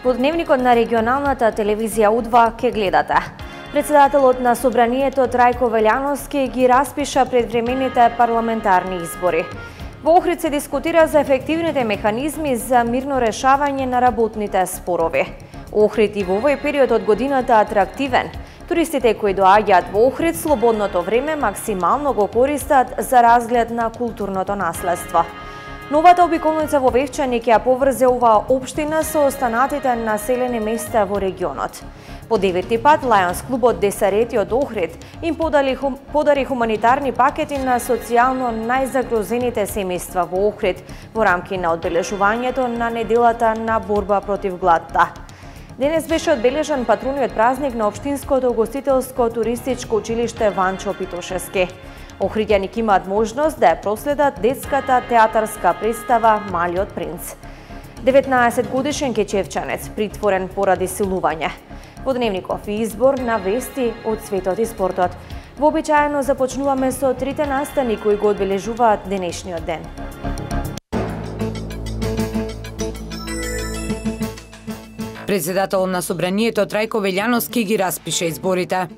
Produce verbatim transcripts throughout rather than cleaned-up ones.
Во дневникот на регионалната телевизија У два ке гледате. Председателот на Собранието Трајко Велјановски ги распиша предвремените парламентарни избори. Во Охрид се дискутира за ефективните механизми за мирно решавање на работните спорови. Охрид и во овој период од годината атрактивен. Туристите кои доаѓаат во Охрид слободното време максимално го користат за разглед на културното наследство. Новата обиколница во Вевчани ќе ја поврзе оваа општина со останатите населени места во регионот. По деветти пат Лајонс клубот Десарети од Охрид им подали, хум, подари хуманитарни пакети на социјално најзагрозените семејства во Охрид во рамки на одбележувањето на неделата на борба против гладта. Денес беше одбележан патруниот празник на Општинското угостителско туристичко училиште Ванчо Питошевски. Охриѓани ќе имаат можност да ја проследат детската театарска представа Малиот принц. деветнаесет годишен кечевчанец притворен поради силување. Во дневников и избор на вести од светот и спортот. Вообичаено започнуваме со трите настани кои го одбележуваат денешниот ден. Председател на Собранието Трајко Велјановски ги распиша изборите.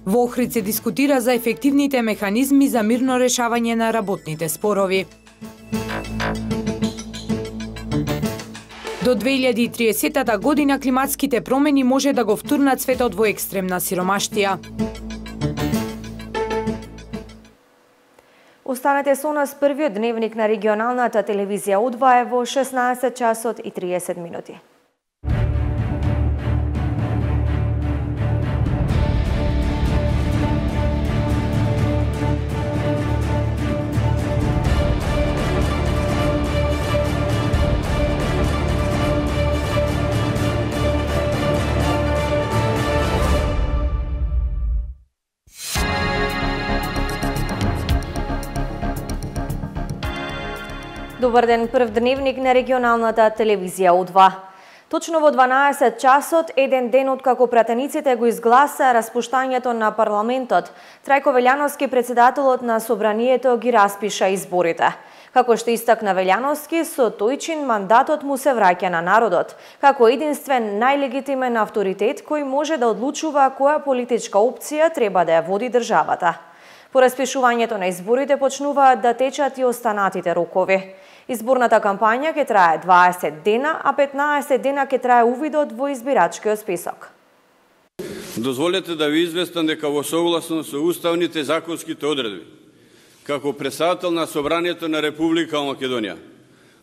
Во Охрид се дискутира за ефективните механизми за мирно решавање на работните спорови. До две илјади и триесетта година климатските промени може да го втурнат светот во екстремна сиромаштија. Останете со нас, првиот дневник на регионалната телевизија У два е во шеснаесет часот и триесет минути. Добар ден, прв дневник на регионалната телевизија У два. Точно во дванаесет часот, еден ден откако пратениците го изгласа распуштањето на парламентот, Трајко Велјановски, председателот на Собранието, ги распиша изборите. Како што истакна Велјановски, со тој чин мандатот му се враќа на народот, како единствен најлегитимен авторитет кој може да одлучува која политичка опција треба да ја води државата. По распишувањето на изборите почнуваат да течат и останатите рокови. Изборната кампања ќе трае дваесет дена, а петнаесет дена ќе трае увидот во избирачкиот список. Дозволете да ви известам дека во согласно со уставните и законските одредби, како председател на Собранието на Република Македонија,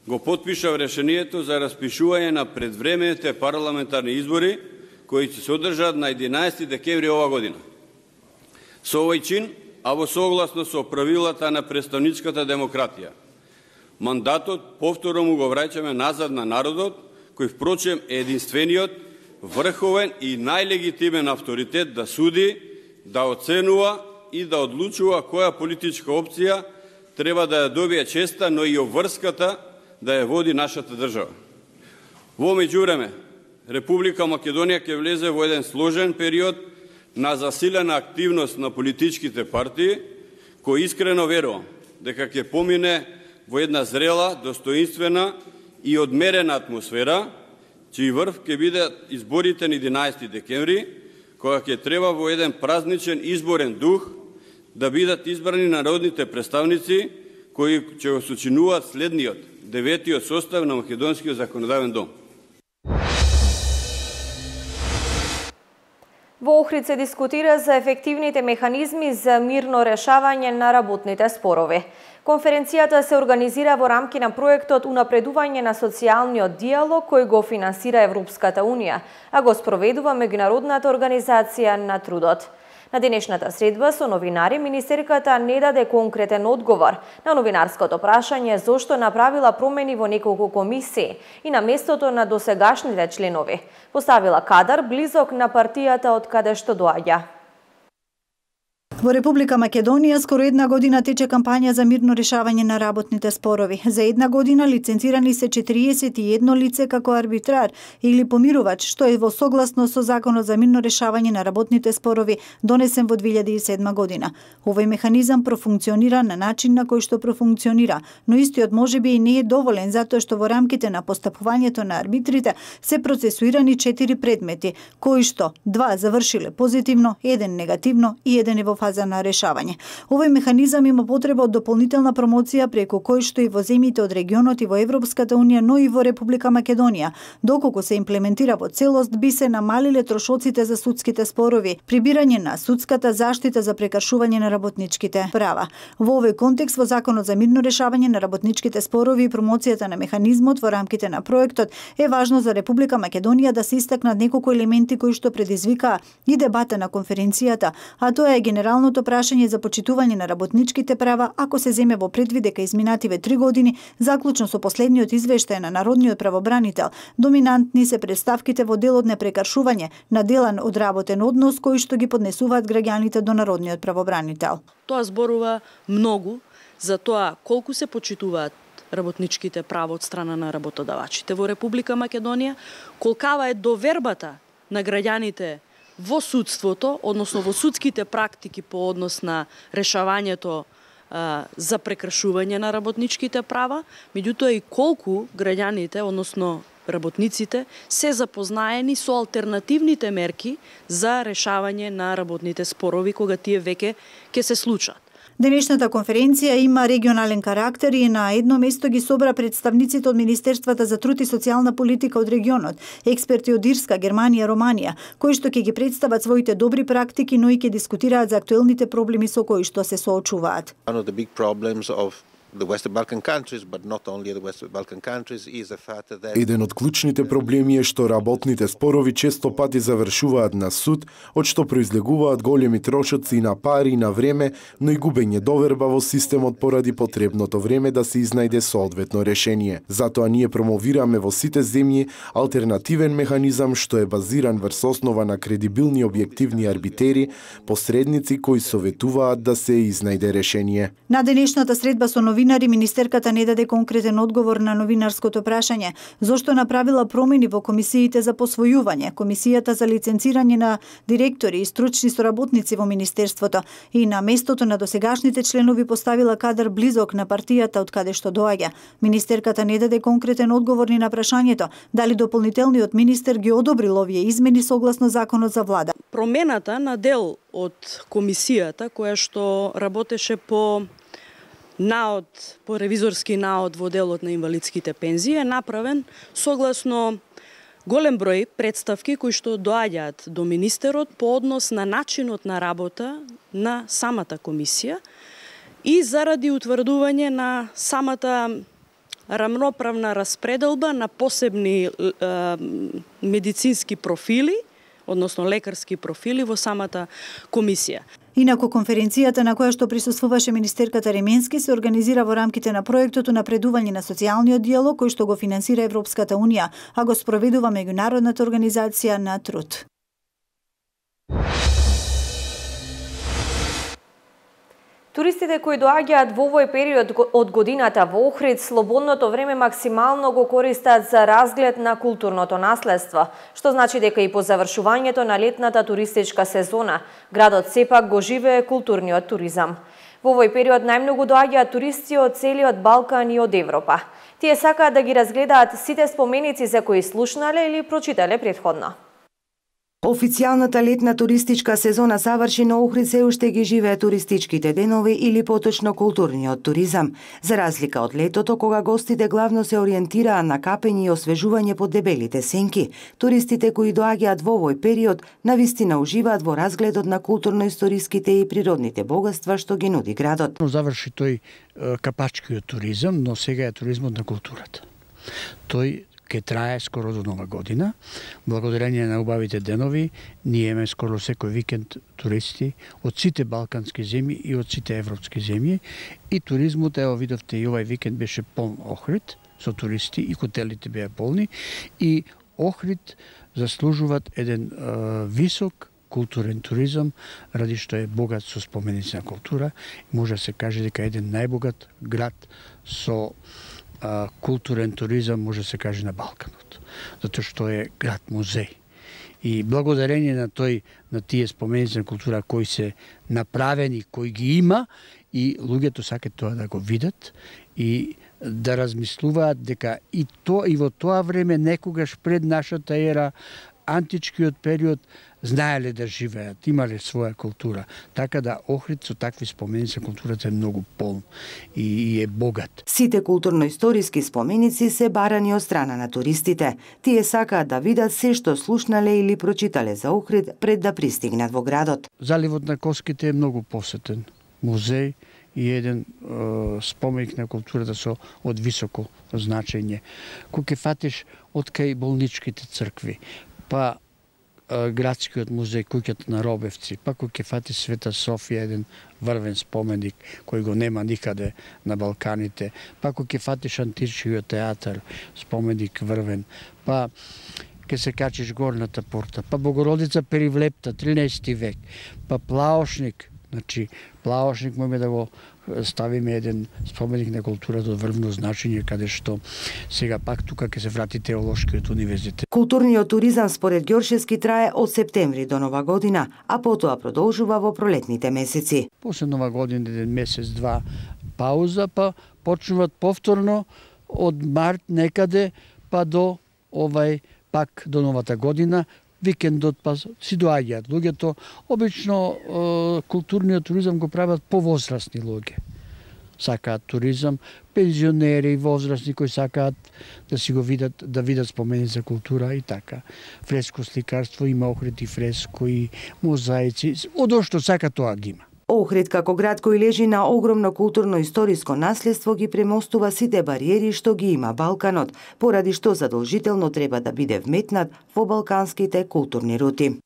го потпишав решението за распишување на предвремените парламентарни избори, кои ќе се одржат на единаесети декември ова година. Со овој чин, а во согласно со правилата на представничката демократија, мандатот повторно му го враќаме назад на народот, кој впрочем е единствениот, врховен и најлегитимен авторитет да суди, да оценува и да одлучува која политичка опција треба да ја добие честа, но и обврската да ја води нашата држава. Во меѓувреме, Република Македонија ќе влезе во еден сложен период на засилена активност на политичките партии, кој искрено верувам дека ќе помине во една зрела, достоинствена и одмерена атмосфера, чиј врв ќе бидат изборите на единаесети декември, кога ќе треба во еден празничен изборен дух да бидат избрани народните представници кои ќе го сочинуваат следниот, деветиот состав на Македонскиот законодавен дом. Во Охрид се дискутира за ефективните механизми за мирно решавање на работните спорови. Конференцијата се организира во рамки на проектот Унапредување на социјалниот диалог кој го финансира Европската Унија, а го спроведува Меѓународната организација на трудот. На денешната средба со новинари министерката не даде конкретен одговор на новинарското прашање зошто направила промени во неколку комисии и на местото на досегашните членови. Поставила кадар близок на партијата од каде што доаѓа. Во Република Македонија скоро една година тече кампања за мирно решавање на работните спорови. За една година лиценцирани се четириесет и едно лице како арбитрар или помирувач, што е во согласно со Законот за мирно решавање на работните спорови донесен во две илјади и седма година. Овој механизам профункционира на начин на кој што профункционира, но истиот можеби и не е доволен затоа што во рамките на постапувањето на арбитрите се процесуирани четири предмети, кои што два завршиле позитивно, еден негативно и еден е во фаза на решавање. Овој механизам има потреба од дополнителна промоција преку кој што и во земјите од регионот и во Европската унија, но и во Република Македонија. Доколку се имплементира во целост, би се намалиле трошоците за судските спорови, прибирање на судската заштита за прекршување на работничките права. Во овој контекст, во Законот за мирно решавање на работничките спорови и промоцијата на механизмот во рамките на проектот е важно за Република Македонија да се истакнат неколку елементи кои што предизвикаа и дебата на конференцијата, а тоа е генералното прашање за почитување на работничките права, ако се земе во предвид дека изминативе три години, заклучно со последниот извештај на Народниот правобранител, доминантни се представките во делот на прекршување на делан одработен однос кои што ги поднесуваат граѓаните до Народниот правобранител. Тоа зборува многу за тоа колку се почитуваат работничките права од страна на работодавачите во Република Македонија, колкава е довербата на граѓаните во судството, односно во судските практики по однос на решавањето а, за прекршување на работничките права, меѓутоа и колку граѓаните, односно работниците, се запознаени со алтернативните мерки за решавање на работните спорови кога тие веќе ќе се случат. Денешната конференција има регионален карактер и на едно место ги собра представниците од Министерствата за труд и социјална политика од регионот, експерти од Ирска, Германија, Романија, кои што ќе ги представат своите добри практики, но и ќе дискутираат за актуелните проблеми со кои што се соочуваат. Еден од клучните проблеми е што работните спорови често пати завршуваат на суд, од што произлегуваат големи трошоци на пари и на време, но и губење доверба во системот поради потребното време да се изнајде соодветно решение. Затоа ние промовираме во сите земји алтернативен механизам што е базиран врз основа на кредибилни објективни арбитери, посредници кои советуваат да се изнајде решение. На денешната средба со новинари, министерката не даде конкретен одговор на новинарското прашање зошто направила промени во комисиите за посвојување, комисијата за лиценцирање на директори и стручни соработници во министерството и на местото на досегашните членови поставила кадар близок на партијата од каде што доаѓа. Министерката не даде конкретен одговор ни на прашањето дали дополнителниот министер ги одобрил овие измени согласно законот за влада. Промената на дел од комисијата која што работеше по наод, по ревизорски наод во делот на инвалидските пензии е направен согласно голем број представки кои што доаѓаат до министерот по однос на начинот на работа на самата комисија и заради утврдување на самата рамноправна распределба на посебни е, медицински профили, односно лекарски профили во самата комисија. Инаку конференцијата на која што присуствуваше министерката Ременски се организира во рамките на проектот Унапредување на социјалниот диалог кој што го финансира Европската унија, а го спроведува меѓународната организација на труд. Туристите кои доаѓаат во овој период од годината во Охрид, слободното време максимално го користат за разглед на културното наследство, што значи дека и по завршувањето на летната туристичка сезона, градот сепак го живее културниот туризам. Во овој период најмногу доаѓаат туристи од целиот Балкан и од Европа. Тие сакаат да ги разгледаат сите споменици за кои слушнале или прочитале претходно. Официјалната летна туристичка сезона заврши, но Охрид се уште ги живее туристичките денови или поточно културниот туризам. За разлика од летото, кога гостите главно се ориентираа на капење и освежување под дебелите сенки, туристите кои доаѓаат во овој период навистина уживаат во разгледот на културно-историските и природните богатства што ги нуди градот. Заврши тој капачкиот туризам, но сега е туризмот на културата. Тој ке трае скоро до нова година. Благодарение на убавите денови, ние имаме скоро секој викенд туристи од сите балкански земји и од сите европски земји. И туризмот, ево видовте, и овај викенд беше полн Охрид со туристи и хотелите беа полни. И Охрид заслужуваат еден е, висок културен туризам, ради што е богат со споменици на култура. Може да се каже дека еден најбогат град со а, културен туризам може да се каже на Балканот, затоа што е град музеј. И благодарение на тој, на тие споменици на култура кои се направени, кои ги има, и луѓето сакаат тоа да го видат и да размислуваат дека и то и во тоа време некогаш пред нашата ера, античкиот период, знаеле да живеат, имале своја култура. Така да Охрид со такви споменици на културата е многу полн и, и е богат. Сите културно-историски споменици се барани од страна на туристите. Тие сакаат да видат се што слушнале или прочитале за Охрид пред да пристигнат во градот. Заливот на Коските е многу посетен музеј и еден е, споменик на културата со од високо значење. Кога ќе фатиш од кај болничките цркви, па е, градскиот музеј, куќата на Робевци, па кога ќе фатиш Света Софија, еден врвен споменик кој го нема никаде на Балканите, па кога ќе фатиш античкиот театар, споменик врвен, па ке се качиш Горната порта, па Богородица Перивлепта, тринаесети век, па Плаошник. Значи, Плаошник можеме да го ставиме еден споменик на културата од врвно значење, каде што сега пак тука ќе се врати Теолошкиот универзитет. Културниот туризам според Ѓоршевски трае од септември до Нова година, а потоа продолжува во пролетните месеци. После Нова година еден месец, два пауза, па почнуваат повторно од март некаде па до овај пак до новата година. Викендот па си доаѓаат луѓето. Обично е, културниот туризам го прават повозрастни луѓе. Сакаат туризам, пензионери, возрастни кои сакаат да си го видат, да видат споменици за култура и така. Фреско сликарство, има Охрид и фреско и мозаици, одо што сака тоа ги има. Охрид како град кој лежи на огромно културно-историско наследство ги премостува сите бариери што ги има Балканот, поради што задолжително треба да биде вметнат во балканските културни рути.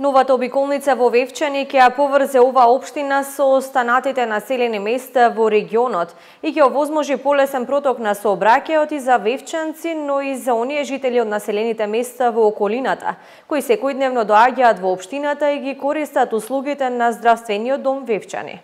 Новата обиколница во Вевчани ќе ја поврзе оваа општина со останатите населени места во регионот и ќе овозможи полесен проток на сообраќајот и за вевчанци, но и за оние жители од населените места во околината, кои секојдневно доаѓаат во општината и ги користат услугите на здравствениот дом Вевчани.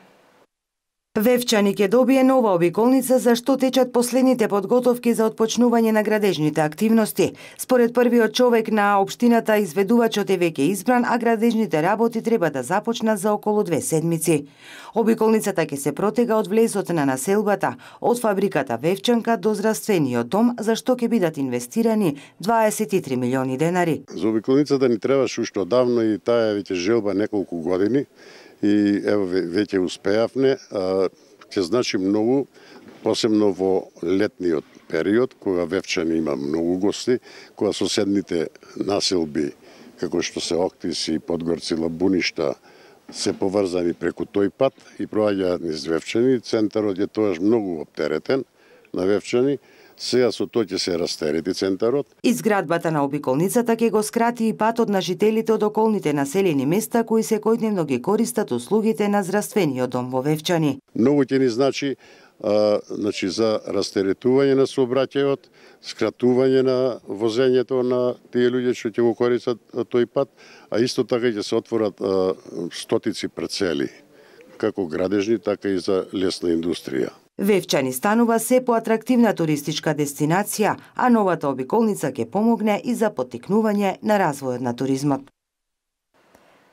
Вевчани ќе добие нова обиколница за што течат последните подготовки за отпочнување на градежните активности. Според првиот човек на општината, изведувачот е веќе избран, а градежните работи треба да започнат за околу две седмици. Обиколницата ќе се протега од влезот на населбата, од фабриката Вевчанка до здравствениот дом, за што ќе бидат инвестирани дваесет и три милиони денари. За обиколницата ни требаше уште одавно и таа е веќе желба неколку години. И ево веќе успеавме, ќе значи многу, посебно во летниот период, кога Вевчани има многу гости, кога соседните населби, како што се Октис и Подгорци, Лабуништа, се поврзани преку тој пат и проаѓаат низ Вевчани. Центарот е тоаш многу оптеретен на Вевчани. Сега со тоа ќе се растерети центарот. Изградбата на обиколницата ќе го скрати и патот на жителите од околните населени места кои секојдневно ги користат услугите на здравствениот дом во Вевчани. Многу ќе ни значи, а, значи за растеретување на сообраќајот, скратување на возењето на тие луѓе што ќе го користат тој пат, а исто така ќе се отворат а, стотици парцели, како градежни, така и за лесна индустрија. Вевчани станува се поатрактивна туристичка дестинација, а новата обиколница ќе помогне и за поттикнување на развојот на туризмот.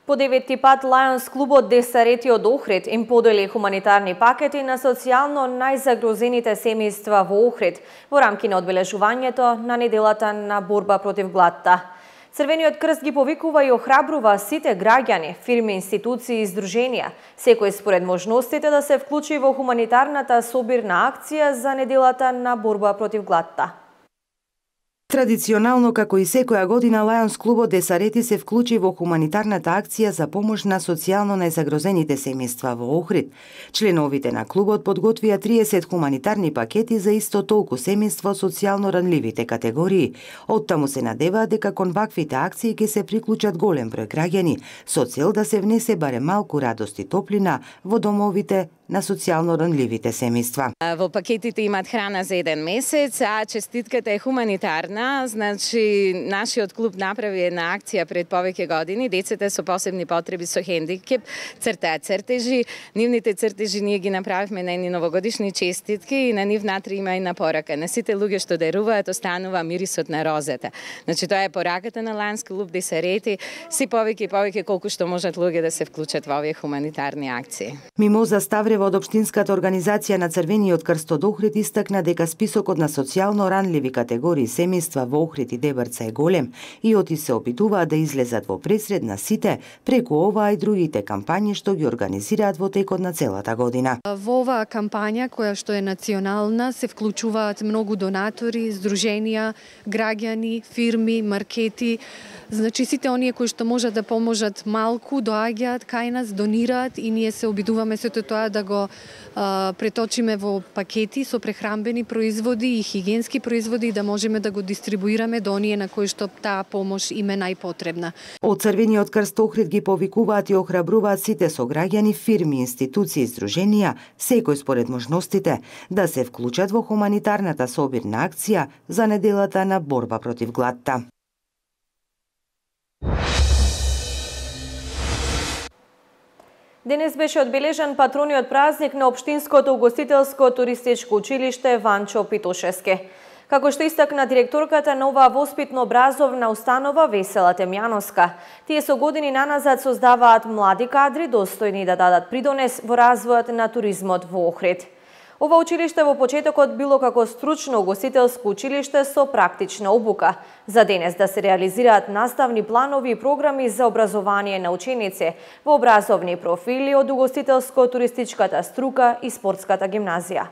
По деветти пат Лајонс клубот Десарети од Охрид им подели хуманитарни пакети на социјално најзагрозените семејства во Охрид во рамки на одбележувањето на неделата на борба против гладта. Црвениот крст ги повикува и охрабрува сите граѓани, фирми, институции и здруженија, секој според можностите да се вклучи во хуманитарната собирна акција за неделата на борба против гладта. Традиционално, како и секоја година, Лајонс клубот Десарети се вклучи во хуманитарната акција за помош на социјално најзагрозените семејства во Охрид. Членовите на клубот подготвија триесет хуманитарни пакети за исто толку семејства од социјално ранливите категории. Оттаму се надеваат дека кон ваквите акции ќе се приклучат голем број граѓани, со цел да се внесе барем малку радост и топлина во домовите на социјално ранливите семејства. Во пакетите имаат храна за еден месец, а честитката е хуманитарна. Значи, нашиот клуб направи една акција пред повеќе години. Децата со посебни потреби, со хендикеп, цртаат цртежи. Нивните цртежи ние ги направивме на едни новогодишни честитки и на нив внатре има една порака. На сите луѓе што даруваат останува мирисот на розата. Значи, тоа е пораката на Lions Club да се рети си повеќе и повеќе колку што можат луѓе да се вклучат во овие хуманитарни акции. Мимоза Ставрева од Општинската организација на Црвениот крст од Охрид истакна дека списокот на социјално ранливи категории семејства во Охрид и Дебрца е голем и оти се опитуваат да излезат во пресред на сите преку оваа и другите кампањи што ги организираат во текот на целата година. Во оваа кампања која што е национална се вклучуваат многу донатори, здруженија, граѓани, фирми, маркети. Значи сите оние кои што можат да поможат малку доаѓаат кај нас, донираат и ние се обидуваме сето тоа да го а, преточиме во пакети со прехранбени производи и хигиенски производи и да можеме да го дистрибуираме до оние на кои што таа помош им е најпотребна. Од Црвениот крст Охрид ги повикуваат и охрабруваат сите сограѓани, фирми, институции и здруженија, секој според можностите, да се вклучат во хуманитарната собирна акција за неделата на борба против гладта. Денес беше одбележан патрониот празник на Општинското угостителско туристичко училиште Ванчо Питошевски. Како што истакна директорката на оваа воспитно-образовна установа Весела Темјановска, тие со години наназад создаваат млади кадри достојни да дадат придонес во развојот на туризмот во Охрид. Ова училиште во почетокот било како стручно угостителско училиште со практична обука, за денес да се реализираат наставни планови и програми за образование на ученици во образовни профили од угостителско-туристичката струка и спортската гимназија.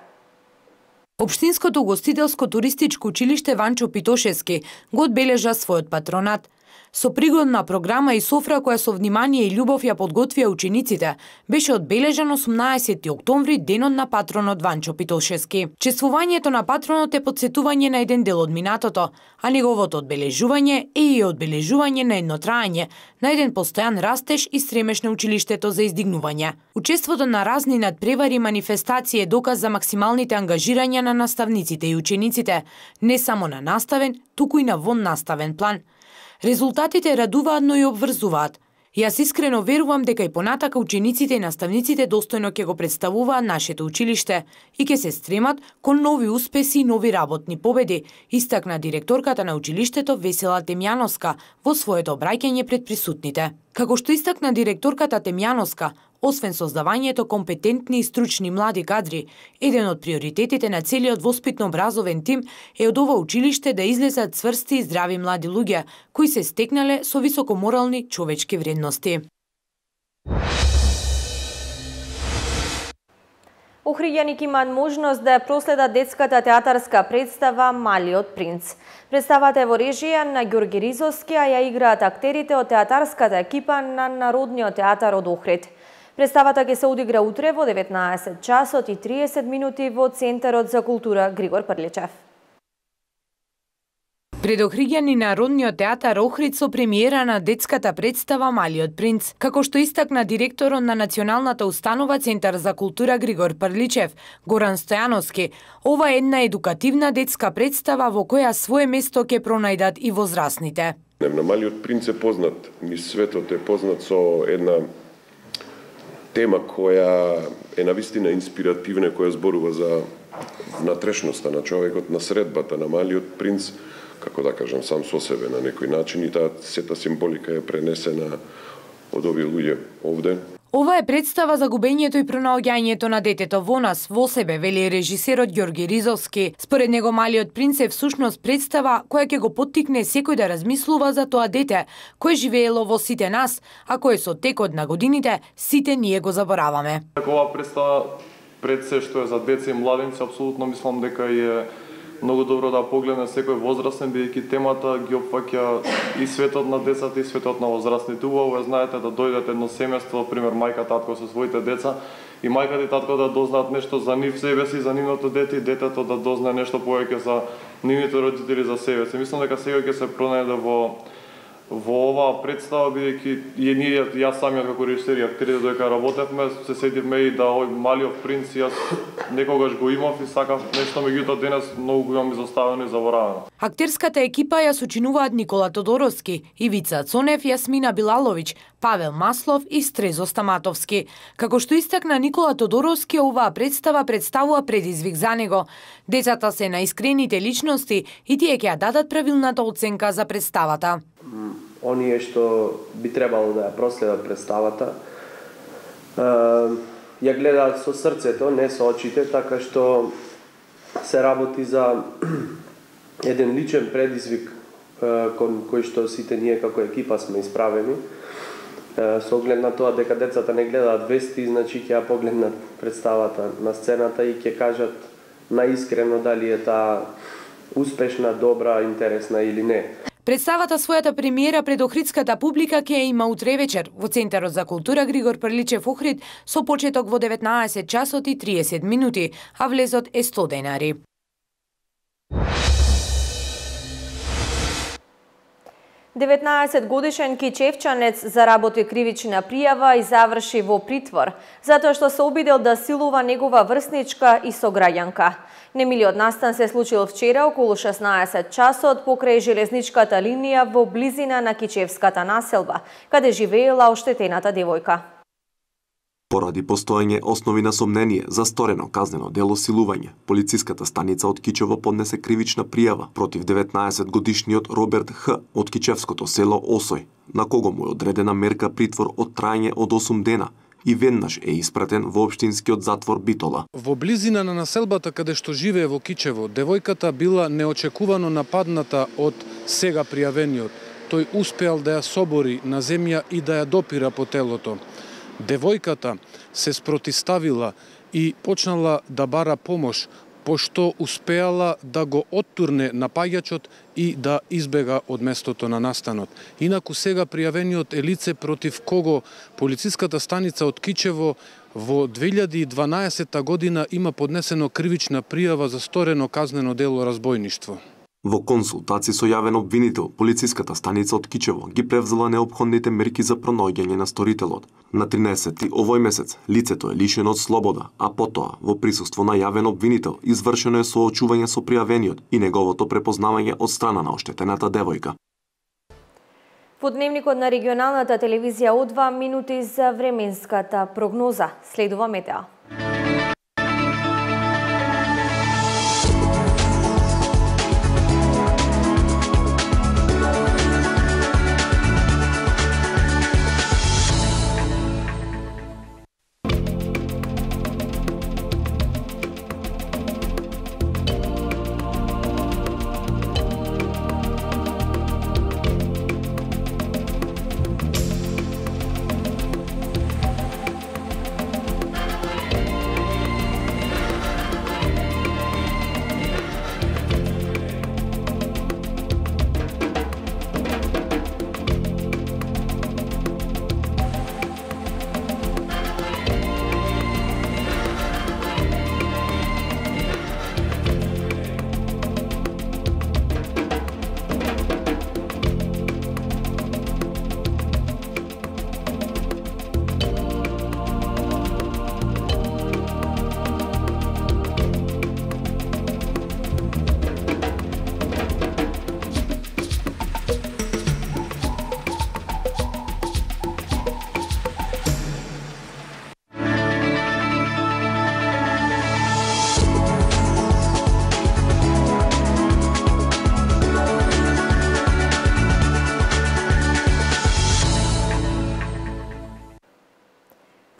Општинското угостителско туристичко училиште Ванчо Питошевски го одбележа својот патронат. Со пригодна програма и софра која со внимание и љубов ја подготвија учениците, беше одбележан осумнаесети октомври, денот на патронот Ванчо Питошевски. Чествувањето на патронот е потсетување на еден дел од минатото, а неговото одбележување е и одбележување на едно трајање, на еден постојан растеж и стремеж на училиштето за издигнување. Учеството на разни надпревари и манифестации е доказ за максималните ангажирања на наставниците и учениците, не само на наставен, туку и на воннаставен план. Резултатите радуваат, но и обврзуваат. Јас искрено верувам дека и понатака учениците и наставниците достојно ќе го представуваат нашето училиште и ќе се стремат кон нови успеси и нови работни победи, истакна директорката на училиштето Весела Темјановска во своето обраќање пред присутните. Како што истакна директорката Темјановска, освен создавањето компетентни и стручни млади кадри, еден од приоритетите на целиот воспитно-образовен тим е од ова училиште да излезат цврсти и здрави млади луѓе, кои се стекнале со високоморални човечки вредности. Охриѓани имаат можност да проследат детската театарска представа Малиот принц. Представата е во режија на Ѓорги Ризовски, а ја играат актерите од театарската екипа на Народниот театар од Охрид. Представата ќе се одигра утре во деветнаесет часот и триесет минути во Центарот за култура Григор Прличев. Пред охриѓани на Народниот театар Охрид со премиера на детската представа Малиот принц, како што истакна директорот на Националната установа Центар за култура Григор Прличев, Горан Стојановски, ова е една едукативна детска представа во која свое место ќе пронајдат и возрастните. На Малиот принц е познат, низ светот е познат со една тема која е навистина инспиративна, која зборува за внатрешноста на човекот, на средбата на Малиот принц, како да кажам, сам со себе на некој начин, и таа сета символика е пренесена од овие луѓе овде. Ова е представа за губењето и пронаоѓањето на детето во нас, во себе, вели режисерот Ѓорги Ризовски. Според него Малиот принц е всушност представа која ќе го поттикне секој да размислува за тоа дете, кое живеело во сите нас, а кое со текот на годините сите ние го забораваме. Ова представа пред се што е за деца и младенци, апсолутно мислам дека е многу добро да погледне секој возрастен, бидејќи темата ги опфаќа и светот на децата и светот на возрастните. Убаво е, знаете, да дојдат едно семејство, пример мајка, татко со своите деца, и мајката и татко да дознаат нешто за нив себе си, за нивното дете, и детето да дознае нешто повеќе за нивните родители, за себе си. Мислам дека сега ќе се пронајде во во оваа представа, бидејќи и ние, јас самиот како режисер и актерите додека работевме, се сетивме и да овој Малиот принц јас некогаш го имав и сакав нешто, меѓутоа денес многу го имам изоставено и заборавено. Актерската екипа ја сочинуваат Никола Тодоровски, Ивица Цонев, Јасмина Билаловиќ, Павел Маслов и Стрезо Стаматовски. Како што истакна Никола Тодоровски, оваа представа представува предизвик за него. Децата се наискрените личности и тие ќе ја дадат правилната оценка за представата. Оние што би требало да ја проследат представата, ја гледаат со срцето, не со очите, така што се работи за еден личен предизвик кон кој што сите ние како екипа сме исправени. Со оглед на тоа дека децата не гледаат вести, значи ќе ја погледнат представата на сцената и ќе кажат наискрено дали е таа успешна, добра, интересна или не. Представата својата премиера пред охридската публика ќе има утре вечер во Центарот за култура Григор Прличев Охрид со почеток во деветнаесет часот и триесет минути, а влезот е сто денари. деветнаесет годишен кичевчанец заработи кривична пријава и заврши во притвор, затоа што се обидел да силува негова врсничка и сограѓанка. Немилиот настан се случил вчера околу шеснаесет часот покрај железничката линија во близина на Кичевската населба, каде живеела оштетената девојка. Поради постоење основи на сомнение за сторено казнено дело силување, полициската станица од Кичево поднесе кривична пријава против деветнаесет годишниот Роберт Х. од Кичевското село Осој, на кого му е одредена мерка притвор од трајање од осум дена и веднаш е испратен во општинскиот затвор Битола. Во близина на населбата каде што живее во Кичево, девојката била неочекувано нападната од сега пријавениот. Тој успеал да ја собори на земја и да ја допира по телото. Девојката се спротиставила и почнала да бара помош, пошто успеала да го оттурне напаѓачот и да избега од местото на настанот. Инаку сега пријавениот е лице против кого полициската станица од Кичево во две илјади и дванаесета година има поднесено кривична пријава за сторено казнено дело разбојништво. Во консултација со јавен обвинител, полициската станица од Кичево ги превзела неопходните мерки за пронаоѓање на сторителот. На тринаесети овој месец лицето е лишено од слобода, а потоа во присуство на јавен обвинител извршено е соочување со пријавениот и неговото препознавање од страна на оштетената девојка. Во дневникот на регионалната телевизија О два минути за временската прогноза. Следува метеа.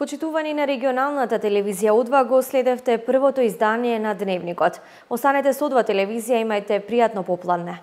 Почитувани на регионалната телевизија О два, го следевте првото издание на Дневникот. Останете со О два телевизија, имајте пријатно попладне.